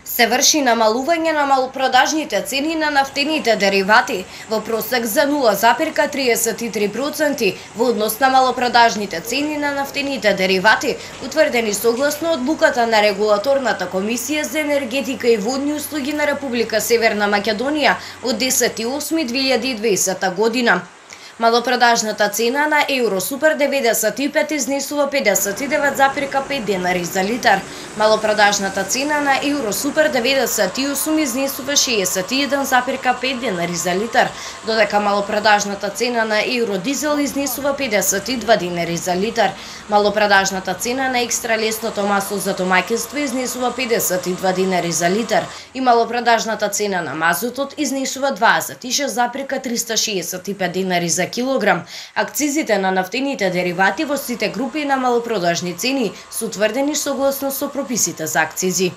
Се врши намалување на малопродажните цени на нафтените деривати во просек за 0,33% во однос на малопродажните цени на нафтените деривати, утврдени согласно одлуката на Регулаторната комисија за енергетика и водни услуги на Република Северна Македонија од 10.8.2020 година. Малопродажната цена на Евро Супер 95 изнесува 59,5 денари за литар. Малопродажната цена на Евро Супер 98 изнесува 61,5 денари за литар, додека малопродажната цена на Евро Дизел изнесува 52 денари за литар. Малопродажната цена на екстра лесното масло за домаќинство изнесува 52 денари за литар и малопродажната цена на мазутот изнесува 26,365 денари за килограм. Акцизите на нафтените деривати во сите групи на малопродажни цени се утврдени согласно со прописите за акцизи.